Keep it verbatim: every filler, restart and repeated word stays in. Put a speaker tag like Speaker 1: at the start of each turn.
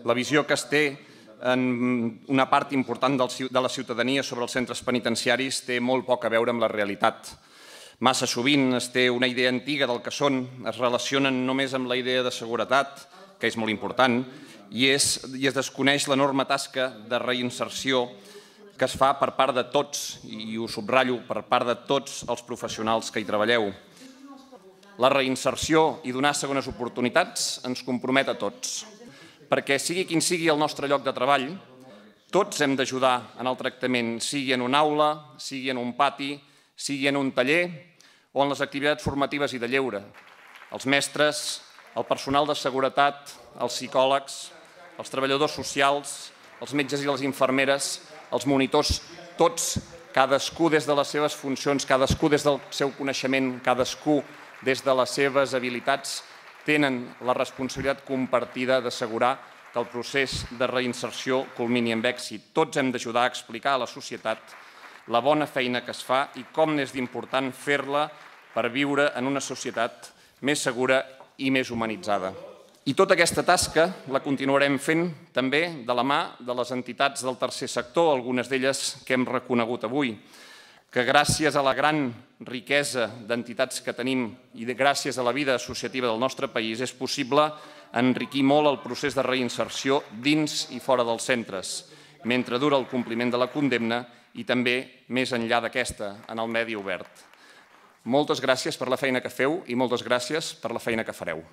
Speaker 1: La visió que es té en una part important de la ciutadania sobre els centres penitenciaris té molt poc a veure amb la realitat. Massa sovint es té una idea antiga del que són, es relacionen només amb la idea de seguretat, que és molt important, i es desconeix l'enorme tasca de reinserció que es fa per part de tots, i ho subratllo, per part de tots els professionals que hi treballeu. La reinserció i donar segones oportunitats ens compromet a tots, perquè sigui quin sigui el nostre lloc de treball, tots hem d'ajudar en el tractament, sigui en una aula, sigui en un pati, sigui en un taller o en les activitats formatives i de lleure. Els mestres, el personal de seguretat, els psicòlegs, els treballadors socials, els metges i les infermeres, els monitors, tots, cadascú des de les seves funcions, cadascú des del seu coneixement, cadascú des de les seves habilitats, tenen la responsabilitat compartida d'assegurar que el procés de reinserció culmini amb èxit. Tots hem d'ajudar a explicar a la societat la bona feina que es fa i com n'és d'important fer-la per viure en una societat més segura i més humanitzada. I tota aquesta tasca la continuarem fent també de la mà de les entitats del tercer sector, algunes d'elles que hem reconegut avui, que gràcies a la gran riquesa d'entitats que tenim i gràcies a la vida associativa del nostre país és possible enriquir molt el procés de reinserció dins i fora dels centres, mentre dura el compliment de la condemna i també més enllà d'aquesta, en el medi obert. Moltes gràcies per la feina que feu i moltes gràcies per la feina que fareu.